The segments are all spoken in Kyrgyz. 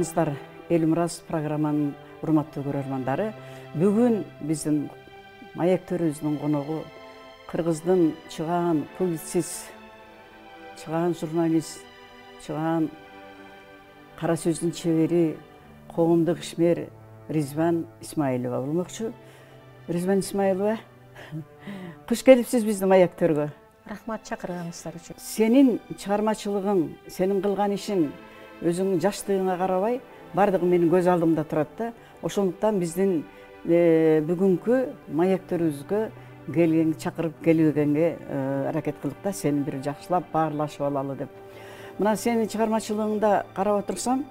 саламатсыздар. Элмураз программанын урматтуу көрөрмандары. Бүгүн биздин маектөрүбүздүн коногу Кыргыздын чыгаан публицист, чыгаан журналист, чыгаан кара сөздүн чебери, коомдук ишмер Ризван Исмаилова болмокчу. Ризван Исмаилова, куш келипсиз биздин маектөргө. Рахмат чакырганыңыздар үчүн. Сенин чыгармачылыгың, сенин кылган ишиң өзүңдүн жаштыгыңа карабай бардыгы менин көз алдымда турат да. Ошондуктан биздин бүгүнкү маектөрүбүзгө келген, чакырып келбегенге аракет кылдык да, сени бир жакшылап баарлашып алалы деп. Мына сенин чыгармачылыгыңда карап отурсам,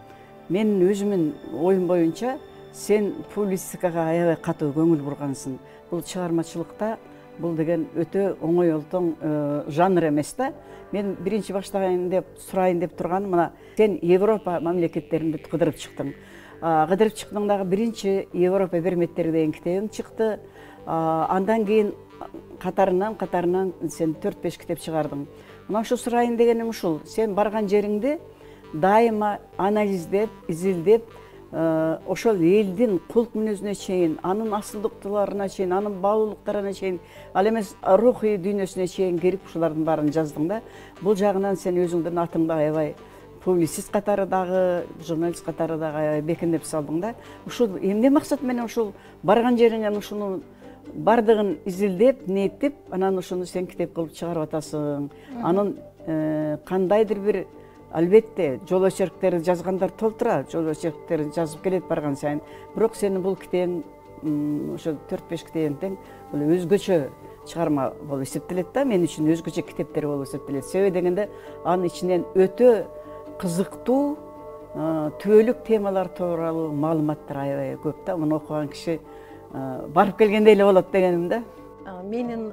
менин өзүмдүн оюм боюнча сен публистикага аябай катуу көңүл бургансың. Бул чыгармачылыкта бул деген өтө оңой олтоң жанр эмес да. Мен биринчи баштаган деп сурайын деп турганым, мына сен Европа мамлекеттеринде кыдырып чыктың. Кыдырып чыктың дагы биринчи Европа берметтери деген китебиң чыкты. Андан кийин катарынан сен 4-5 китеп чыгардың. Мына ушу сурайын дегеним ушул. Сен барган жериңде дайыма анализдеп, изилдеп, ошол элдин кулк мүнөзүнө чейин, анын асылдыктууларына чейин, анын баалуулуктарына чейин, ал эмес рухий дүйнөсүнө чейин кирип ушулардын баарын жаздың да. Бул жагынан сен өзүңдүн атыңды аябай публицист катары дагы, журналист катары дагы аябай бекемдеп салдың да. Ушул эмне максат менен ушул барган жериңен ушуну бардыгын изилдеп, ниеттеп, анан ушуну сен китеп кылып чыгарып атасың. Анын кандайдыр бир, албетте, жол очерктерди жазгандар толтура, жол очерктерди жазып келет барган сайын. Бирок сенин бул китебиң, ошо 4-5 китебиң тең өзгөчө чыгарма болуп эсептелет да. Мен үчүн өзгөчө китептер болуп эсептелет. Себеби дегенде анын ичинен өтө кызыктуу, түбөлүк темалар тууралуу маалыматтар аябай көп да. Муну окуган киши барып келгендей эле болот дегеним да. Менин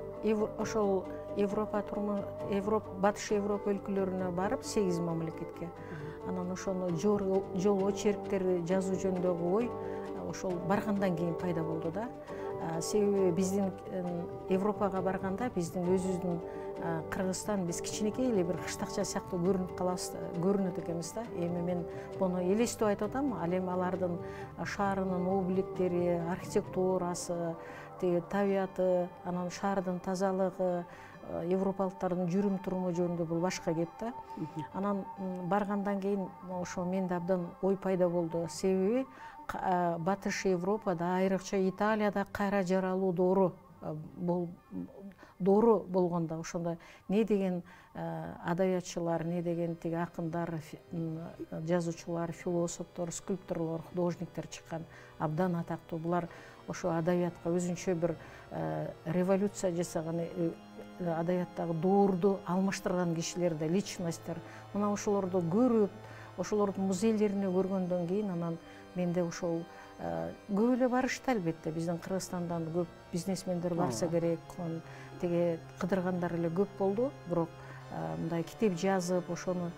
ошол Батыш Европа өлкөлөрүнө барып 8 мамлекетке. Анан ошону жол очерктерди жазуу жөнүндөгү ой ошол баргандан кийин пайда болду да. Себеби биздин Европага барганда биздин өзүбүздүн Кыргызстан биз кичинекей эле бир кыштакча сыяктуу көрүнөт экенбиз да. Эми мен буну элестип айтып атам. Ал эми алардын шаарынын обликтери, архитектурасы, табияты, анан шаардын тазалыгы, европалыктардын жүрүм туруму жөнүндө бул башка кеп да. Анан баргандан кийин ошо менде абдан ой пайда болду. Себеби Батыш Европада, айрыкча Италияда кайра жаралуу доору болгондо ошондо не деген адабиятчылар, не деген тиги акындар, жазуучулар, философтор, скульпторлор, художниктер чыккан, абдан атактуу. Булар ошо адабиятка өзүнчө бир революция жасаган, адабияттагы доорду алмаштырган кишилер да, личносттер. Мына ошолорду көрүп, ошолордун музейлерине көргөндөн кийин анан менде ошол көп эле барышты албетте. Биздин Кыргызстандан көп бизнесмендер барса керек, тиги кыдыргандар эле көп болду. Бирок мындай китеп жазып, ошону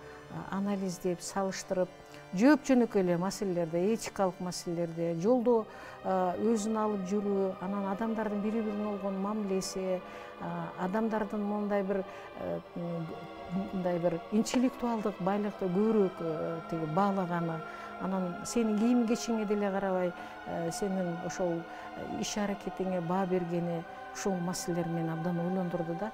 анализдеп, салыштырып, жооп жөнөкөй эле маселелерде, этикалык маселелерде, жолдо өзүн алып жүрүү, анан адамдардын бири-бирине болгон мамилеси, адамдардын мындай бир интеллектуалдык байлыкты көбүрөөк тиги баалаганы, анан сенин кийим кечиңе деле карабай, сенин ошол иш аракетиңе баа бергени, ушул маселелер мени абдан ойлондурду да.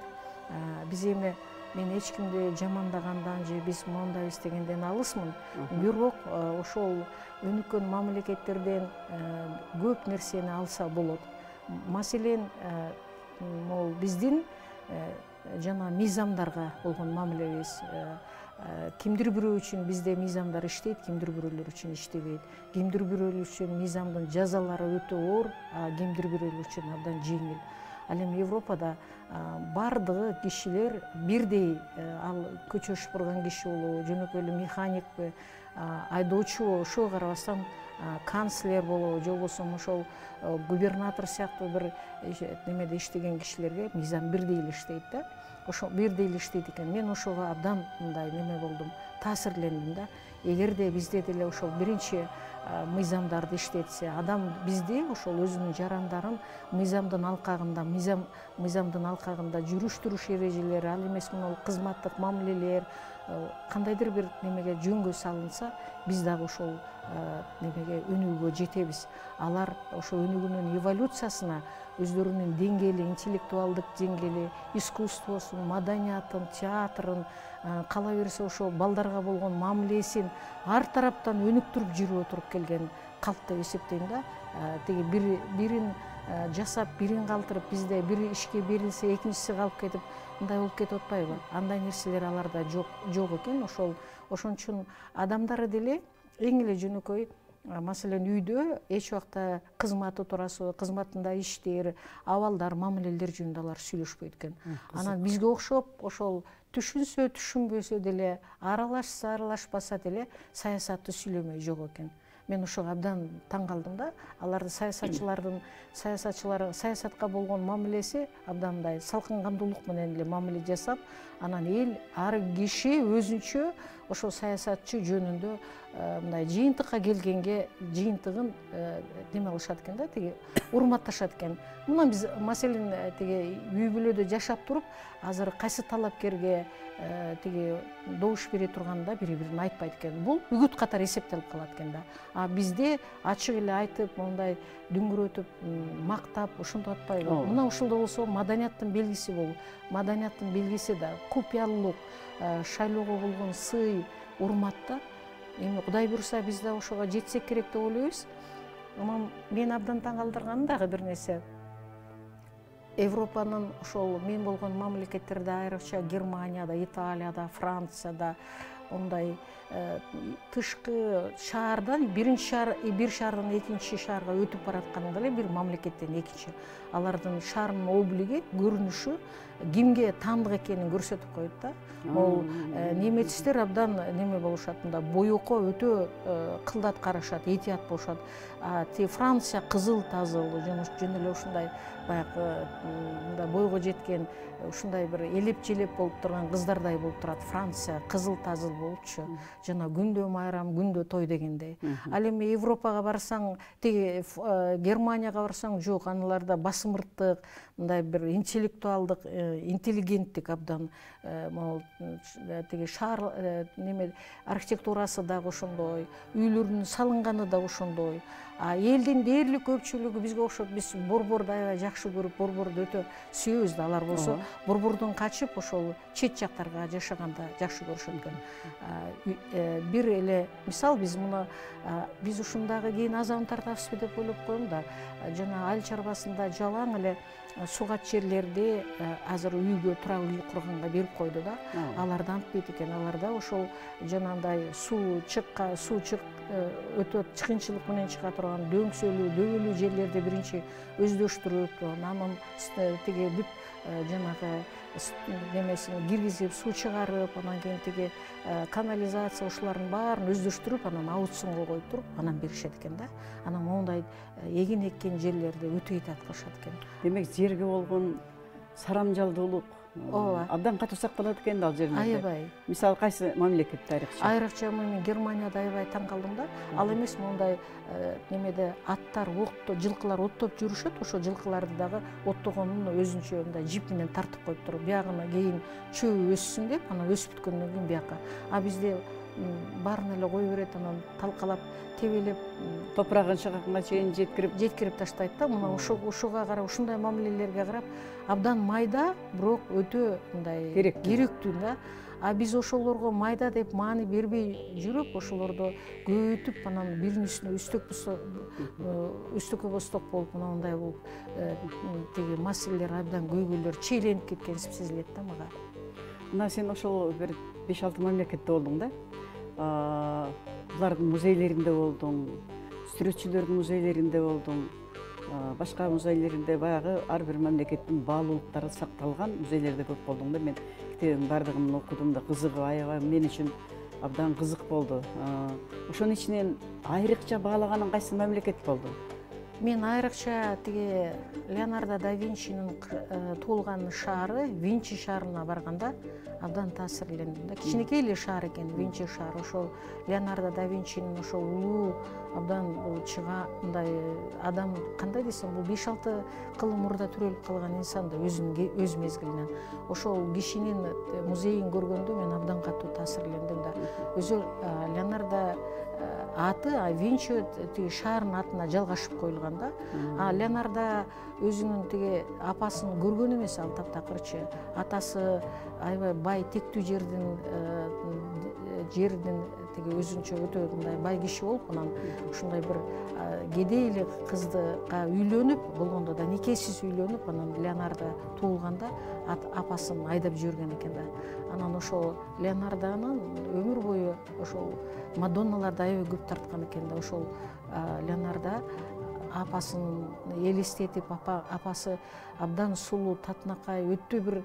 Биз эми мен эч кимди жамандагандан же биз моундайбыз дегенден алысмын. Бирок ошол өнүккөн мамлекеттерден көп нерсени алса болот. Маселен, могул биздин жана мыйзамдарга болгон мамилебиз. Кимдир бирөө үчүн бизде мыйзамдар иштейт, кимдир бирөөлөр үчүн иштебейт. Кимдир бирөөлөр үчүн мыйзамдын жазалары өтө оор, кимдир бирөөлөр үчүн абдан жеңил. Ал эми Европада бардыгы кишилер бирдей, ал көчө шупурган киши болобу, жөнөкөй эле механикпи, айдоочу, ошого карабастан канцлер болобу, же болбосо ошол губернатор сыяктуу бир немеде иштеген кишилерге мыйзам бирдей эле иштейт да. Ошо бирдей эле иштейт экен. Мен ошого абдан мындай неме болдум, таасирлендим да. Эгерде бизде деле ошол биринчи мыйзамдарды иштетсе, адам бизде ошол өзүнүн жарандарын мыйзамдын алкагында жүрүш-туруш эрежелери, ал эмес мына кызматтык мамилелер кандайдыр бир немеге жөнгө салынса, биз дагы ошол немеге өнүгүүгө жетебиз. Алар ошо өнүгүүнүн эволюциясына өздөрүнүн деңгээли, интеллектуалдык деңгээли, искусствосун, маданиятын, театрын, кала берсе ошо балдарга болгон мамилесин ар тараптан өнүктүрүп жүрүп отуруп келген калп деп эсептейм да. Тиги бирин жасап, бирин калтырып, бизде бир ишке берилсе, экинчиси калып кетип, мындай болуп кетип атпайбы? Андай нерселер аларда жок экен. Ошон үчүн адамдары деле эң эле жөнөкөй, маселен, үйдө эч убакта кызматы туурасында, кызматында иштер, абалдар, мамилелер жөнүндө алар сүйлөшпөйт экен. Анан бизге окшоп ошол түшүнсө, түшүнбөсө деле, аралашса, аралашпаса деле саясатты сүйлөмөй жок экен. Мен ошого абдан таң калдым да. Алардын саясатка болгон мамилеси абдан мындай салкын кандуулук менен эле мамиле жасап, анан эл ар киши өзүнчө ошол саясатчы жөнүндө мындай жыйынтыкка келгенге жыйынтыгын неме кылышат экен да, тиги урматташат экен. Мына биз маселен тиги үй бүлөдө жашап туруп, азыр кайсы талапкерге тиги добуш бере турганда бири-бирин айтпайт экен. Бул үгүт катары эсептелип калат экен да. А бизде ачык эле айтып, мондай дүңгүрөтүп, мактап, ошондой атпайбы? Мына ошондой болсо маданияттын белгиси болуп, маданияттын белгиси да купуялуулук, шайлоого болгон сый, урмат да. Эми Кудай буйруса биз да ошого жетсек керек деп ойлойбуз. Анан мени абдан таң калтырганы дагы бир нерсе. Европанын ошол мен болгон мамлекеттерде, айрыкча Германияда, Италияда, Францияда, ондай тышкы шаардан бир шаардан экинчи шаарга өтүп баратканда эле бир мамлекеттен экинчи, алардын шаарынын облиги, көрүнүшү кимге таандык экенин көрсөтүп коет да. Ол немецтер абдан неме болушат, мында боекко өтө кылдат карашат, этият болушат. Франция кызыл тазыл, жөн эле ушундай баягы мында бойго жеткен ушундай бир элеп-желеп болуп турган кыздардай болуп турат. Франция кызыл тазыл болупчу, жана күндө майрам, күндө той дегендей. Ал эми Европага барсаң, тиги Германияга барсаң, жок, аналарда басымырттык, мындай бир интеллектуалдык, интеллигенттик абдан, могу тиги шаар неме архитектурасы дагы ошондой, үйлөрүнүн салынганы да ошондой. Элдин дээрлик көпчүлүгү бизге окшоп, биз борборду аябай жакшы көрүп, борборду өтө сүйөбүз да. Алар болсо борбордон качып ошол чет жактарга жашаганда жакшы көрүшөт экен. Бир эле мисал, биз ушундагы кийин азабын тартабызбы деп ойлоп коем да. Жана айыл чарбасында жалаң эле сугат жерлерди азыр үйгө турак үй курганга берип койду да. Аларда антпейт экен. Аларда ошол жанагындай суу өтө чыкынчылык менен чыга турган дөңсөлүү, дөбөлүү жерлерди биринчи өздөштүрүп, анан тиги бүт жанагы немесин киргизип, суу чыгарып, анан кийин тиги канализация ушулардын баарын өздөштүрүп, анан аукционго коюп туруп, анан беришет экен да. Анан моундай эгин эккен жерлерди өтө этият кылышат экен. Демек, жерге болгон сарамжалдуулук абдан катуу сакталат экен да ал жерлерде. Аябай. Мисалы кайсы мамлекетте айрыкча? Айрыкча мен Германияда аябай таң калдым да. Ал эмес, мондай немеде аттар, жылкылар оттоп жүрүшөт, ошо жылкыларды дагы оттогонун өзүнчө мындай жип менен тартып коюп туруп, биягына кийин чөбү өссүн деп, анан өсүп бүткөндөн кийин бияка. А бизде баарын эле кое берет, анан талкалап, тебелеп, топурагын чыгарганга чейин жеткирип таштайт да. Мына ошого карап, ушундай мамилелерге карап, абдан майда, бирок өтө мындай керектүү да. А биз ошолорго майда деп маани бербей жүрүп, ошолорду көбөйтүп, анан биринин үстүнө үстөккө босток болуп, мындай болуп, тиги маселелер абдан көйгөйлөр чейленип кеткен сезилет да мага. Мына сен ошол бир 5-6 мамлекетте болдуң да. Булардын музейлеринде болдуң, сүрөтчүлөрдүн музейлеринде болдуң, башка музейлеринде, баягы ар бир мамлекеттин баалуулуктары сакталган музейлерде көп болдуң да. Мен китебин бардыгын окудум да, кызыгып, аябай мен үчүн абдан кызык болду. Ошонун ичинен айрыкча баалаганың кайсы мамлекет болду? Мен айрыкча тиги Леонардо да Винчинин туулган шаары, Винчи шаарына барганда абдан таасирлендим да. Кичинекей эле шаар экен, Винчи шаар. Ошол Леонардо да Винчинин ошол улуу абдан бул чыга мындай адам, кандай десем, бул 5-6 кылым мурда төрөлүп калган инсан да өз мезгилинен. Ошол кишинин музейин көргөндө мен абдан катуу таасирлендим да. Өзү Леонардо аты Винчи тиги шаардын атына жалгашып коюлган да. Леонардо өзүнүн тиги апасын көргөн эмес, ал таптакырчы. Атасы аябай бай, тектүү жердин тиги өзүнчө өтө мындай бай киши болуп, анан ушундай бир кедей эле кыздыга үйлөнүп, болгондо да никесиз үйлөнүп, анан Леонардо туулганда апасын айдап жиберген экен да. Анан ошол Леонардонун өмүр бою ошол Мадонналарды аябай көп тарткан экен да. Ошол Леонардо апасын элестетип, апасы абдан сулуу, татынакай, өтө бир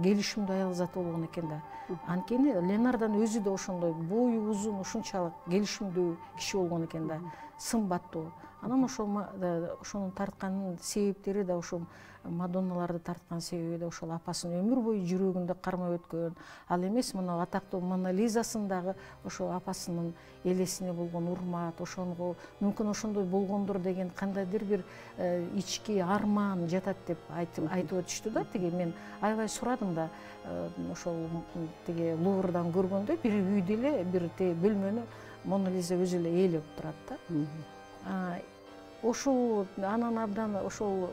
келишимдүү аял заты болгон экен да. Анткени Леонардонун өзү да ошондой бою узун, ушунчалык келишимдүү киши болгон экен да, сымбаттуу. Анан ошонун тартканын себептери да, ошол Мадонналарды тарткан себеби да ошол апасынын өмүр бою жүрөгүндө кармап өткөн. Ал эмес, мына атактуу Мона Лизасындагы ошол апасынын элесине болгон урмат, ошонго мүмкүн ошондой болгондур деген кандайдыр бир ички арман жатат деп айтып өтүштү да. Тиги мен аябай сурадым да, ошол тиги Луврдан көргөндө бир үйдө эле бир бөлмөнү Мона Лиза өзү эле ээлеп турат да. Ошол анан абдан ошол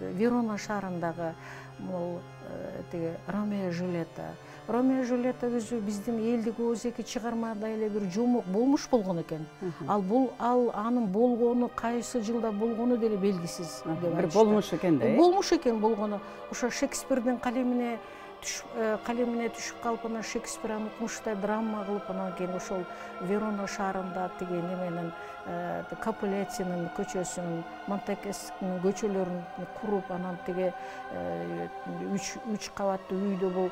Верона шаарындагы могул тиги Ромео и Жюльетта өзү биздин элдик ооздеги чыгармада эле бир жомок болмуш болгон экен. Ал анын болгону, кайсы жылда болгону деле белгисиз деп айтышты. Бир болмуш экен да. Болмуш экен болгону. Ошо Шекспирдин калемине түшүп калып, анан Шекспир аны укмуштай драма кылып, анан кийин ошол Верона шаарында тиги неменин Капулеттинин көчөсүнүн, Монтекескинин көчөлөрүн куруп, анан тиги 3 кабаттуу үйдө бул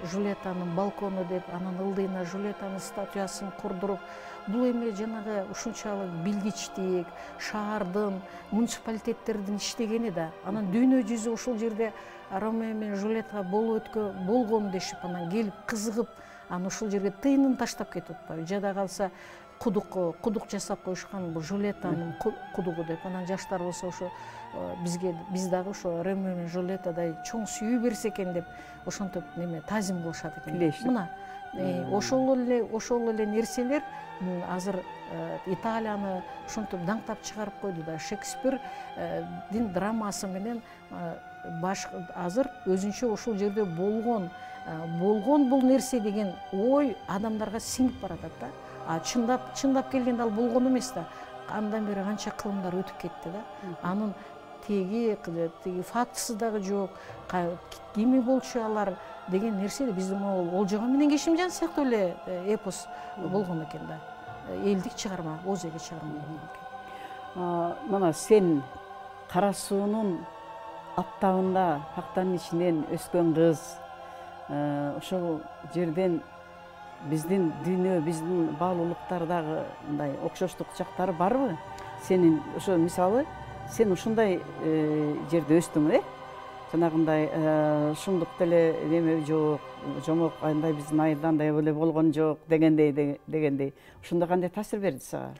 Жюльеттанын балкону деп, анан ылдыйна Жюльеттанын статуясын курдуруп, бул эми жанагы ушунчалык билгичтик, шаардын, муниципалитеттердин иштегени да. Анан дүйнө жүзү ошол жерде Ромео менен Жюльетта болгон дешип, анан келип кызыгып, анан ошол жерге тыйынын таштап кетип атпайбы. Жада калса кудук жасап коюшкан, бул Жюльеттанын кудугу деп. Анан жаштар болсо ошо биз дагы ошо Ромео менен Жюльеттадай чоң сүйүү берсе экен деп ошентип тазим кылышат экен. Мына ошол эле нерселер азыр Италияны ошентип даңктап чыгарып койду да. Шекспирдин драмасы менен азыр өзүнчө ошол жерде болгон бул нерсе деген ой адамдарга сиңип баратат да. Чындап келгенде ал болгон эмес да. Андан бери канча кылымдар өтүп кетти да. Анын теги фактысы дагы жок. Кими болчу алар деген нерсе биздин могул Олжогон менен Кешимжан сыяктуу эле эпос болгон экен да. Элдик чыгарма, ооздеги чыгарма болгон экен. Мына сен Кара суунун аптабында пактанын ичинен өскөн кыз, ошол жерден биздин дүйнө, биздин баалуулуктардагы мындай окшоштук жактары барбы? Сенин ошо мисалы сен ушундай жерде өстүң, жанагындай шумдук деле неме жок, жомок андай биздин айылда андай эле болгон жок дегендей. Ошондо кандай таасир берди сага?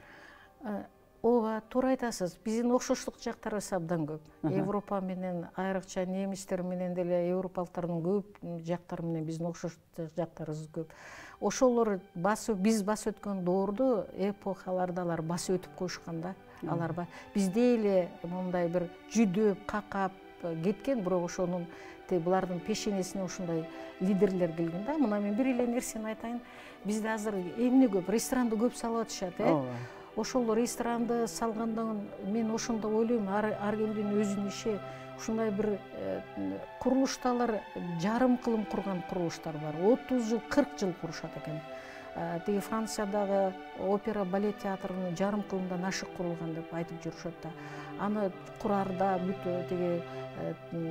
Ооба, туура айтасыз. Биздин окшоштук жактарыбыз абдан көп. Европа менен, айрыкча немистер менен деле европалыктардын көп жактары менен биздин окшоштук жактарыбыз көп. Ошолор биз басып өткөн доорду, эпохаларды алар басып өтүп коюшкан да. Алар бизде эле мындай бир жүдөп, какап кеткен, бирок ошонун булардын пешенесине ушундай лидерлер келген да. Мына мен бир эле нерсени айтайын. Бизде азыр эмне көп, ресторанды көп салып атышат, Ошол ресторанды салгандан мен ошондо ойлойм, ар кимдин өзүнүн иши. Ушундай бир курулушталар жарым кылым курган курулуштар бар. 30 жыл, 40 жыл курушат экен. тиги Франциядагы опера балет театрынын жарым кылымдан ашык курулган деп айтып жүрүшөт да. Аны кураарда бүт тиги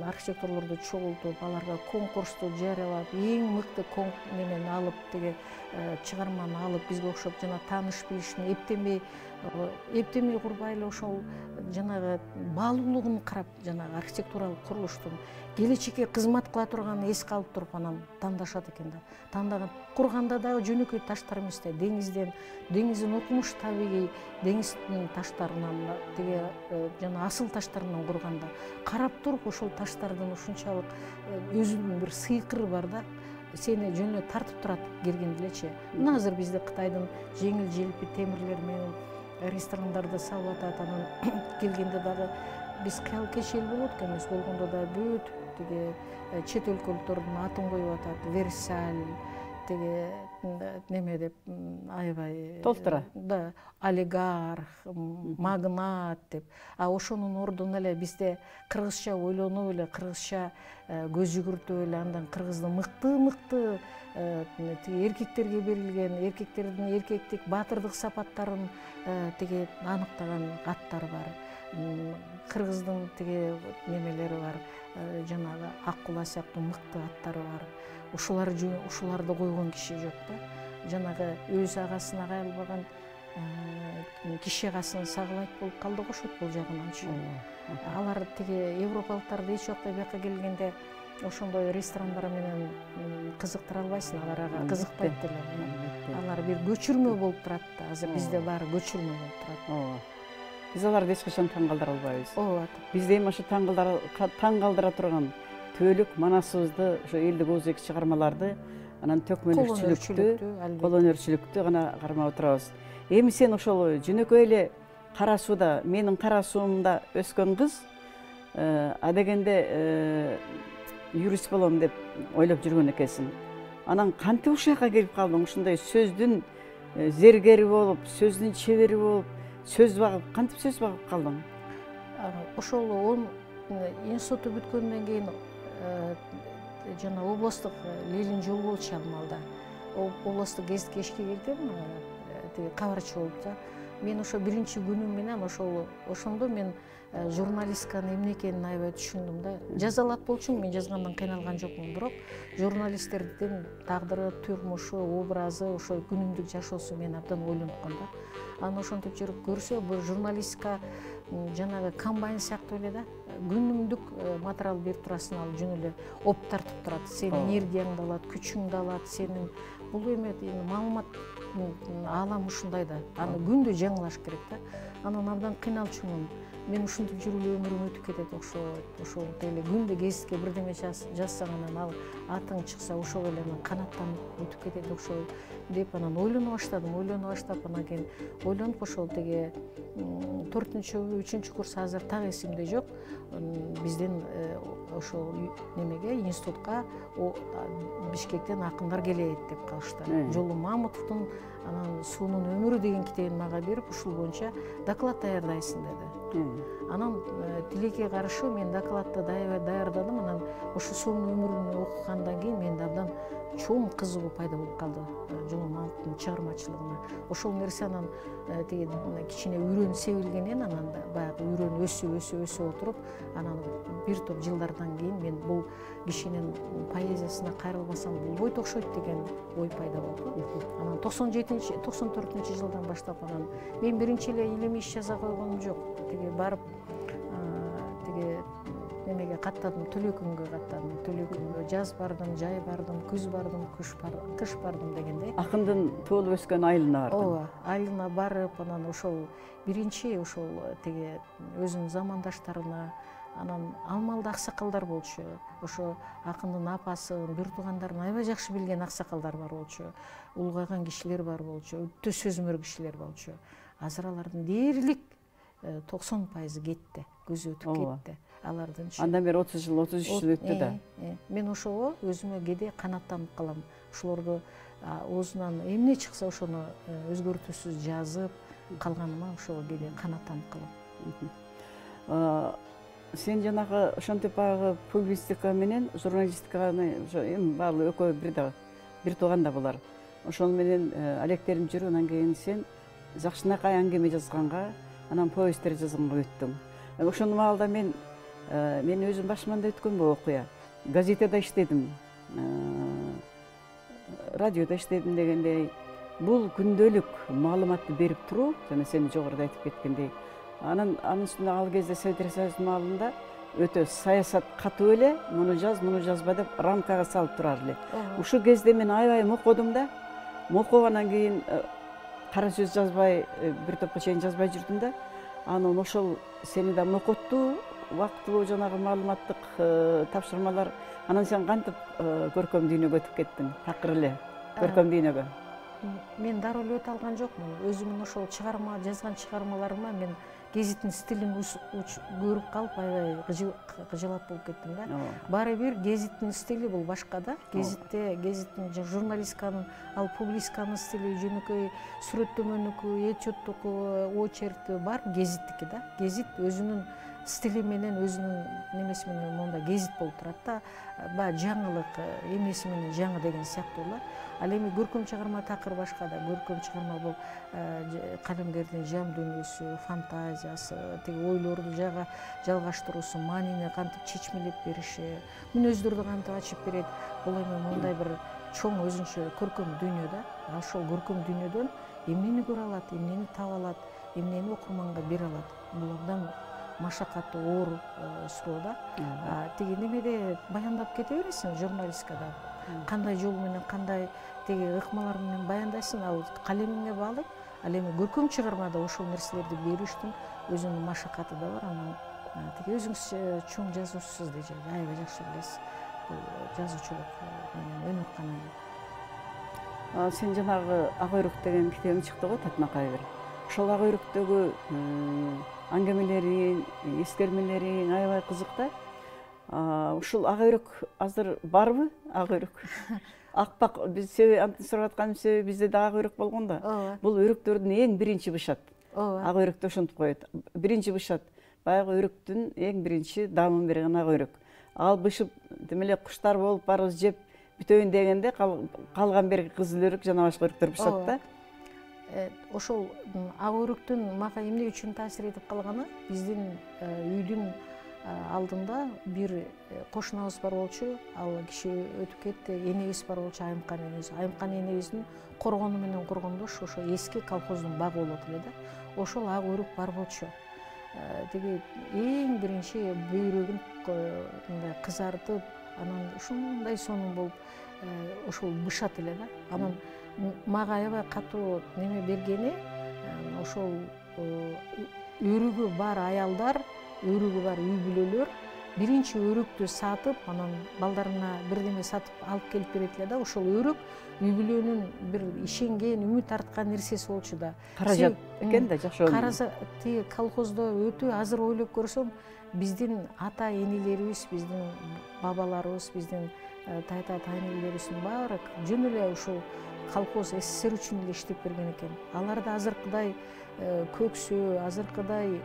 архитекторлорду чогултуп, аларга конкурсту жарыялап, эң мыкты немени алып, тиги чыгарманы алып, бизге окшоп жана тааныш билишин эптемей курбай эле ошол жанагы баалуулугун карап, жанагы архитектуралык курулуштун келечекке кызмат кыла турганын эске алып туруп анан тандашат экен да. Тандаган курганда дагы жөнөкөй таштар эмес да, деңиздин окумуш табигый деңиздин таштарынан, тиги жана асыл таштарынан курганда карап туруп ошол таштардын ушунчалык өзүнүн бир сыйкыры бар да, сени жөнүнө тартып турат киргенде элечи. Мына азыр бизде Кытайдын жеңил желпи темирлери менен ресторандарды салып атат, анан келгенде дагы биз кыял кечил болот экенбиз, болгондо да бүт тиги чет өлкөлөрдүн атын коюп атат, Версаль, тиги неме деп аябай толтура, да, олигарх, магнат деп. А ошонун ордуна эле бизде кыргызча ойлонуп эле, кыргызча көз жүгүртүп эле, андан кыргыздын мыкты тиги эркектерге берилген, эркектердин эркектик баатырдык сапаттарын тиги аныктаган аттар бар. Кыргыздын тиги немелери бар, жанагы Аккула сыяктуу мыкты аттары бар. Ушуларды койгон киши жок да. Жанагы өз агасына кайрылбаган киши агасын сагалайт болуп калды го ошот бул жагынанчы. Алар тиги европалыктарды эч убакта бияка келгенде ошондой ресторандар менен кызыктыра албайсың, алар ага кызыкпайт деле. Алар бир көчүрмө болуп турат да. Азыр бизде баары көчүрмө болуп турат. Биз аларды эч качан таң калтыра албайбыз. Ооба. Бизде эми ошо таң калтыра турган түбөлүк манасыбызды, ошо элдик оозеки чыгармаларды, анан колөнөрчүлүктү гана кармап отурабыз. Эми сен ошол жөнөкөй эле Кара сууда, менин Кара суумда өскөн кыз, адегенде юрист болом деп ойлоп жүргөн экенсиң. Анан кантип ушул жака келип калдың? Ушундай сөздүн зергери болуп, сөздүн чебери болуп, кантип сөз багып калдың? Ошол институту бүткөндөн кийин жана областтык Ленин жол болчу алмалда. Областтык гезитке ишке кирдим, тиги кабарчы болуп да. Мен ошо биринчи күнүм менен ошондо мен журналистканын эмне экенин аябай түшүндүм да. Жаза алат болчумун, мен жазгандан кыйналган жокмун, бирок журналисттердин тагдыры, турмушу, образы, ошо күнүмдүк жашоосу мени абдан ойлонткон да. Анан ошентип жүрүп көрсө, бул журналистика жанагы комбайн сыяктуу эле да. Күнүмдүк материал берип турасың, ал жөн эле оп тартып турат. Сенин энергияңды алат, күчүңдү алат, сенин бул эме маалымат аламы ушундай да. Аны күндө жаңылаш керек да. Анан абдан кыйналчумун. Мен ушинтип жүрүп эле өмүрүм өтүп кетет ошол эле күндө гезитке бирдеме жазсаң, анан ал атың чыкса ошол эле канаттанып өтүп кетет ошол деп анан ойлоно баштадым. Анан кийин ойлонуп ошол тиги 4-3 курс азыр так эсимде жок. Бизден ошол немеге институтка Бишкектен акындар келет деп калышты. Жолу Мамутовдун анан Суунун өмүрү деген китебин мага берип, ушул боюнча доклад даярдайсың деди. Анан тилекке каршы мен докладты даярдадым. Анан ошо Суунун өмүрүн окугандан кийин менде абдан чоң кызыгуу пайда болуп калды Жолу Мамутовдун чыгармачылыгына. Ошол нерсе анан тиги кичине үйрөнүп себилгенен, анан баягы үйрөнүп өсүп отуруп, анан бир топ жылдардан кийин мен бул кишинин поэзиясына кайрылбасам болбойт окшойт деген ой пайда болду. Анан 94 жылдан баштап анан мен биринчи эле илимий иш жаза койгонум жок. Тиги барып тиги немеге каттадым, Төлөкүнгө каттадым. Төлөкүнгө жаз бардым, жай бардым, күз бардым, кыш бардым дегендей. Акындын туулуп өскөн айылына бардым. Ооба, айылына барып, анан ошол биринчи ошол тиги өзүнүн замандаштарына, анан алмалда аксакалдар болчу. Ошо акындын апасын, бир туугандарын аябай жакшы билген аксакалдар бар болчу. Улгайган кишилер бар болчу, өтө сөзмөр кишилер болчу. Азыр алардын дээрлик 90% кетти, көзү өтүп кетти. Алардынчы. Андан бери 30 жыл, 33 жыл өттү да. Мен ошого өзүмө кээде канаттанып калам. Ошолорду оозунан эмне чыкса ошону өзгөртүүсүз жазып калганыма ошого кээде канаттанып калам. Сен жанагы ошентип баягы публицистика менен журналистиканы ошо эми баары экөө бир тууган да булар. ошол менен алектериң жүрүп, анан кийин сен жакшынакай аңгеме жазганга, анан повесттер жазганга өттүң. Ошол маалда мен өзүм башыман да өткөн бул окуя. Газетада иштедим, радиода иштедим дегендей. Бул күндөлүк маалыматты берип туруу, жана сен жогоруда айтып кеткендей. Анын үстүнө ал кезде Совет Союзунун маалында өтө саясат катуу эле, муну жазба деп рамкага салып турар эле. Ушул кезде мен аябай мокодум да. Мокоп анан кийин кара сөз жазбай, бир топко чейин жазбай жүрдүм да. Анан ошол сени да мокотту, убактылуу жанагы маалыматтык тапшырмалар. Анан сен кантип көркөм дүйнөгө өтүп кеттиң? Такыр эле көркөм дүйнөгө. Мен дароо эле өтө алган жокмун. Өзүмдүн ошол жазган чыгармаларыма мен гезиттин стилин көрүп калып аябай кыжылат болуп кеттим да. Баары бир гезиттин стили бул башка да. Гезиттин журналистканын, ал публистканын стили жөнөкөй сүрөттөмөнүкү, этюдтуку, очеркти бар гезиттики да. Гезит өзүнүн стили менен, өзүнүн немеси менен монда гезит болуп турат да. Баягы жаңылык эмеси менен жаңы деген сыяктуу эле. Ал эми көркөм чыгарма такыр башка да. Көркөм чыгарма бул калемгердин жан дүйнөсү, фантазиясы, тиги ойлорду жалгаштыруусу, маанине кантип чечмелеп бериши, мүнөздөрдү кантип ачып берет. Бул эми мондай бир чоң өзүнчө көркөм дүйнө да. Ошол көркөм дүйнөдөн эмнени көрө алат, эмнени таба алат, эмнени окурманга бере алат. Бул абдан машакаттуу, оор суроо да. Тиги немеде баяндап кете бересиң журналисткада. Кандай жол менен, кандай тиги ыкмалар менен баяндайсың, ал калемиңе баалайт. Ал эми көркөм чыгармада ошол нерселерди берүүчтүн өзүнүн машакаты да бар. Анан тиги өзүңүз чоң жазуучусуз дечи, аябай жакшы билесиз. Бул жазуучулук менен өнөр каналы. Сен жанагы Ак өйрөк деген китебиң чыкты го, Татмакай бир. Ошол Ак өйрөктөгү аңгемелериң, эскермелериң аябай кызык да. Ушул Ак өйрөк азыр барбы? Ак өйрөк. Акбак, биз антип сурап атканын себеби бизде да ак өйрөк болгон да. Бул өйрөктөрдүн эң биринчи бышат. Ак өйрөктү ошентип коет. Биринчи бышат. Баягы өйрөктүн эң биринчи дамын берген ак өйрөк. Ал бышып, демеле куштар болуп барыбыз жеп бүтөйүн дегенде калган берги кызыл өйрөк жана башка өйрөктөр бышат да. Ошол ак өйрөктүн мага эмне үчүн таасир этип калганы, биздин үйдүн алдында бир кошунабыз бар болчу. Ал киши өтүп кетти. Энебиз бар болчу, Айымкан энебиз. Айымкан энебиздин коргону менен коргондош ошо эски колхоздун багы болот эле да. Ошол ак өйрөк бар болчу. Тиги эң биринчи бөйрөгүн мындай кызартып, анан ушундай сонун болуп ошол бышат эле да. Анан мага аябай катуу неме бергени, ошол өрүгү бар аялдар, өрүгү бар үй бүлөлөр биринчи өрөктү сатып, анан балдарына бирдеме сатып алып келип берет эле да. Ошол өрөк үй бүлөнүн бир ишенген, үмүт арткан нерсеси болчу да. Каражат экен да, жакшы. Тиги колхоздо өтө азыр ойлоп көрсөм, биздин ата энелерибиз, биздин бабаларыбыз, биздин тайта тайнелерибиздин баары жөн эле ушул колхоз СССР үчүн эле иштеп берген экен. Аларда азыркыдай көксөө, азыркыдай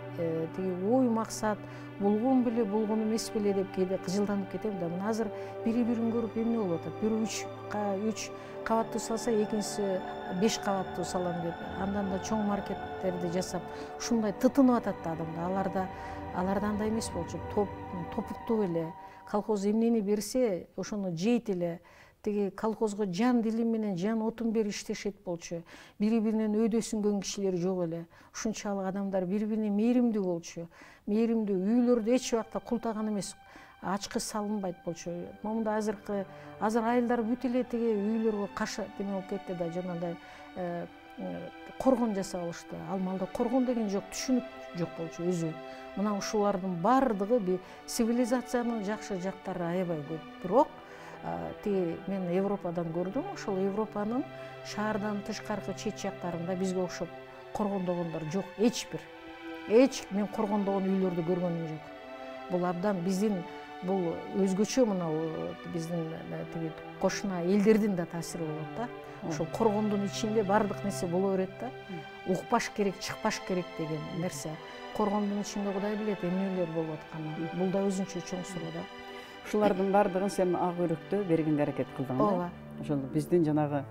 тиги ой максат болгон беле, болгон эмес беле деп кээде кыжылданып кетем да. Мына азыр бири-бирин көрүп эмне болуп атат? Бирөө 3 кабаттуу салса, экинчиси 5 кабаттуу салам деп, андан да чоң маркеттерди жасап, ушундай тытынып атат да адамда. Аларда андай эмес болчу. Топуктуу эле. Колхоз эмнени берсе, ошону жейт эле. Тиги колхозго жан дили менен, жан отун берип иштешет болчу. Бири-биринен өйдөсүнгөн кишилер жок эле. Ушунчалык адамдар бири-бирине мээримдүү болчу. Мээримдүү, үйлөрдө эч убакта култаган эмес, ачкы салынбайт болчу. Момунда азыр айылдар бүт эле тиги үйлөргө каша деме болуп кетти да, жанагындай коргон жасап алышты. Ал маалда коргон деген жок, түшүнүк жок болчу өзү. Мына ушулардын баардыгы цивилизациянын жакшы жактары аябай көп. Бирок тиги мен Европадан көрдүм, ошол Европанын шаардан тышкаркы чет жактарында бизге окшоп коргондогондор жок, мен коргондогон үйлөрдү көргөнүм жок. Бул абдан биздин бул өзгөчө, мына биздин тиги кошуна элдердин да таасири болот да. Ошол коргондун ичинде баардык нерсе боло берет да. Укпаш керек, чыкпаш керек деген нерсе. Коргондун ичинде Кудай билет эмнелер болуп атканын. Бул да өзүнчө чоң суроо да. Ушулардын баардыгын сен ак өйрөктө бергенге аракет кылдың да. Ошол биздин жанагы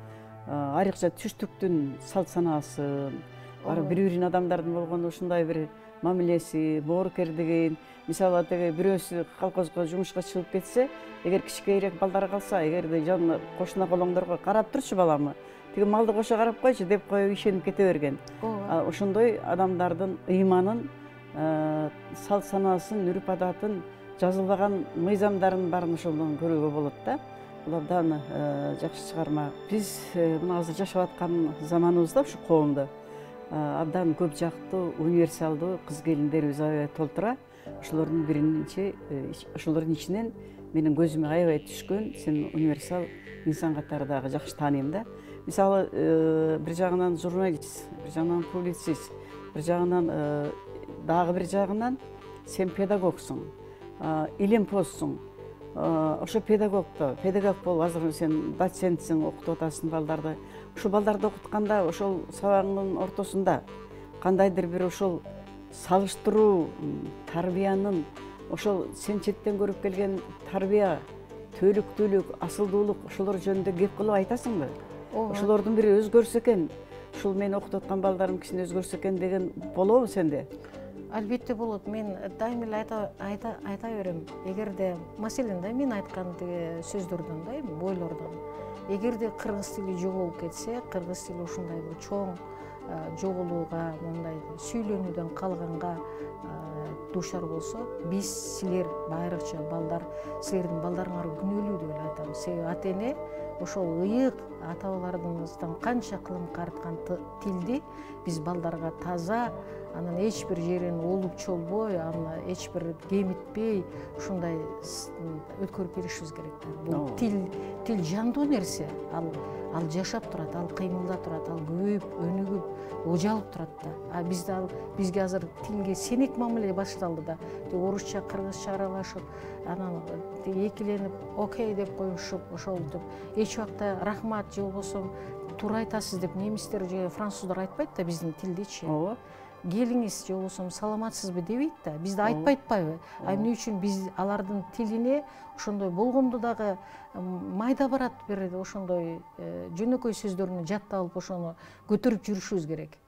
айрыкча түштүктүн салт санаасын, барып бири бирин адамдардын болгон ушундай бир мамилеси, боорукердигин, мисалы теге бирөөсү колхозго жумушка чыгып кетсе, эгер кичинекейирээк балдары калса, эгерде жанына кошуна колоңдорго карап турчу баламы, тиги малды кошо карап койчу деп коюп ишенип кете берген. Ошондой адамдардын ыйманын, салт санаасын, үрп адатын, жазылбаган мыйзамдарын баарын ошондон көрүүгө болот да. Бул абдан жакшы чыгарма. Биз мына азыр жашап аткан заманыбызда ушу коомдо абдан көп жактуу, универсалдуу кыз келиндерибиз аябай толтура. Ошолордун ичинен менин көзүмө аябай түшкөн, сен универсал инсан катары дагы жакшы тааныйм да. Мисалы, бир жагынан журналист, бир жагынан публицист, бир жагынан дагы бир жагынан сен педагогсуң, илимпозсуң. Ошо педагог болуп, азыр сен доцентсиң, окутуп атасың балдарды. Ушул балдарды окутканда, ошол сабагыңдын ортосунда кандайдыр бир ошол салыштыруу, тарбиянын, ошол сен четтен көрүп келген тарбия, төлүктүүлүк, асылдуулук, ошолор жөнүндө кеп кылып айтасыңбы? Ошолордун бири өзгөрсө экен, ушул мен окутуп аткан балдарым кичине өзгөрсө экен деген болобу сенде? Албетте болот. Мен дайым эле айта берем. Эгерде маселен да мен айткан тиги сөздөрдөн да, бойлордон, эгерде кыргыз тили жоголуп кетсе, кыргыз тили ушундай бир чоң жоголууга, мындай сүйлөнүүдөн калганга дуушар болсо, биз силер айрыкча балдар, силердин балдарыңар күнөөлүү деп эле айтам. Себеби ата эне ошол ыйык ата бабаларыбыздан канча кылым карткан тилди биз балдарга таза, анан эч бир жерин олуп чолбой, аны эч бир кемитпей ушундай өткөрүп беришибиз керек. Бул тил жандуу нерсе, ал жашап турат, ал кыймылдап турат, ал көбөйүп, өнүгүп, ожалып турат да. Бизге азыр тилге сенек мамиле башталды да. Орусча, кыргызча аралашып, анан экиленип, окей деп коюшуп, ошол деп эч убакта рахмат же болбосо туура айтасыз деп немистер же француздар айтпайт да биздин тилдичи. Келиңиз же болбосо саламатсызбы дебейт да. Бизде айтпай атпайбы? Эмне үчүн биз алардын тилине ошондой болгондо дагы майда барат бир ошондой жөнөкөй сөздөрүнү жаттап алып ошону көтөрүп жүрүшүбүз керек.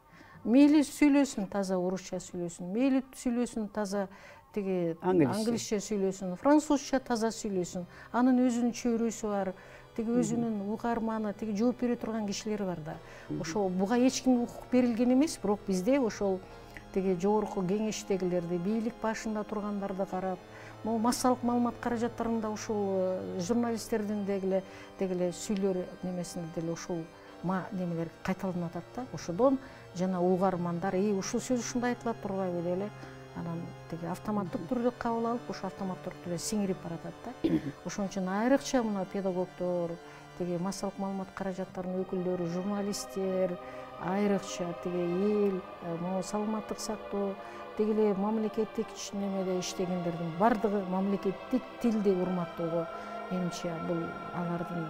Мейли сүйлөсүн, таза орусча сүйлөсүн, мейли сүйлөсүн, таза тиги англисче сүйлөсүн, французча таза сүйлөсүн. Анын өзүнүн чөйрөсү бар, тиги өзүнүн угарманы, тиги жооп бере турган кишилери бар да. Ошол буга эч кимге укук берилген эмес, бирок бизде ошол тиги жогорку кеңештегилерди, бийлик башында тургандарды карап, могу массалык маалымат каражаттарында ушул журналисттердин дегеле сүйлөр немесинде деле ушул немелер кайталанып атат да. Ошодон жана угармандар, ушул сөз ушундай айтылат турбайбы деп эле анан тиги автоматтык түрдө кабыл алып, ошо автоматтык түрдө сиңирип баратат да. Ошон үчүн айрыкча мына педагогдор, тиги массалык маалымат каражаттарынын өкүлдөрү, журналисттер, айрыкча тиги эл, могу саламаттык сактоо, тиги эле мамлекеттик немеде иштегендердин бардыгы мамлекеттик тилди урматтоого менимче бул алардын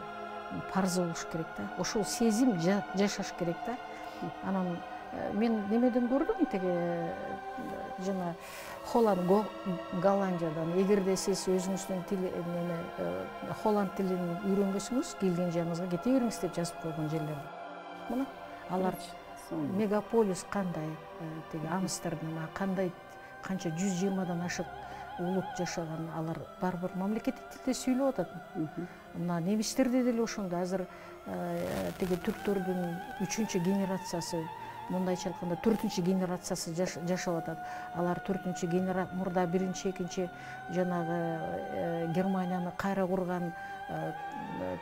парзы болуш керек да. Ошол сезим жашаш керек да. Анан мен немеден көрдүм, тиги жана Холланд, Голландиядан, эгерде сиз өзүңүздүн тил Холланд тилин үйрөнгөсүңүз, келген жагыңызга кете бериңиз деп жазып койгон жерлер. Мына алар мегаполис кандай, тиги Амстердам кандай, канча 120дан ашык улут жашаган, алар барбыр мамлекеттик тилде сүйлөп атат. Мына немистерде деле ошондой. Азыр тиги түрктөрдүн 3-чү генерациясы, мындайча айтканда 4-чү генерациясы жашап атат. Алар 4-чү генерация мурда 1-чи, 2-чи жанагы Германияны кайра курган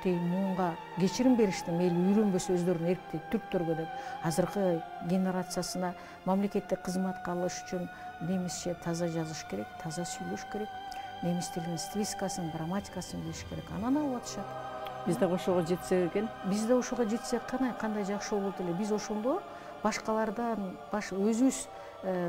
тиги муунга кечирим беришти, мейли үйрөнбөсө өздөрүн эрктейт түрктөргө деп. Азыркы генерациясына мамлекеттик кызматка алыш үчүн немисче таза жазыш керек, таза сүйлөш керек, немис тилинин стилистикасын, грамматикасын билиш керек. Анан алып атышат. Биз да ошого жетсек экен. Биз да ошого жетсек кандай жакшы болот эле. Биз ошондо башкалардан өзүбүз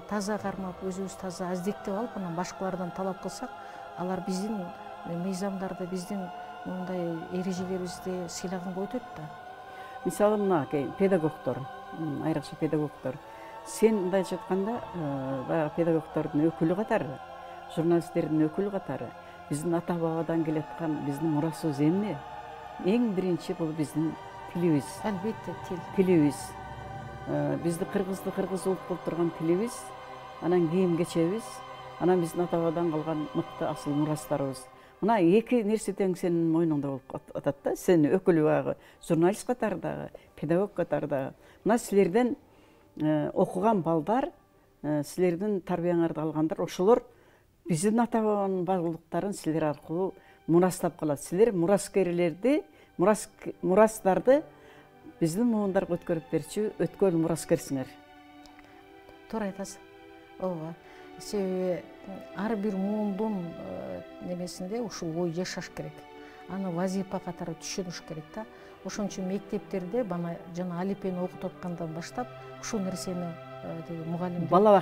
таза кармап, өзүбүз таза аздектеп алып, анан башкалардан талап кылсак, алар биздин мыйзамдарды, биздин мындай эрежелерибизди сыйлаганга өтөт да. Мисалы мына педагогдор, айрыкча педагогдор. Сен мындайча айтканда, баягы педагогдордун өкүлү катары, журналисттердин өкүлү катары биздин ата бабадан келаткан биздин мурасыбыз эмне? Эң биринчи бул биздин тилибиз. Албетте тил. Тилибиз. Бизди кыргызды кыргыз улут кылып турган тилибиз, анан кийим кечебиз, анан биздин ата бабадан калган мыкты асыл мурастарыбыз. Мына эки нерсе тең сенин мойнуңда болуп атат да. Сен өкүл баягы журналист катарындагы, педагог катарындагы. Мына силерден окуган балдар, силердин тарбияңарды алгандар, ошолор биздин ата бабанын баалуулуктарын силер аркылуу мурастап калат. Силер мураскерлерди, мурастарды биздин муундарга өткөрүп берчү өткөл мураскерсиңер. Туура айтасыз. Ооба. Себеби ар бир муундун немесинде ушул ой жашаш керек. Аны вазипа катары түшүнүш керек да. Ошон үчүн мектептерде жана алипени окутуп аткандан баштап ушул нерсени мугалим бала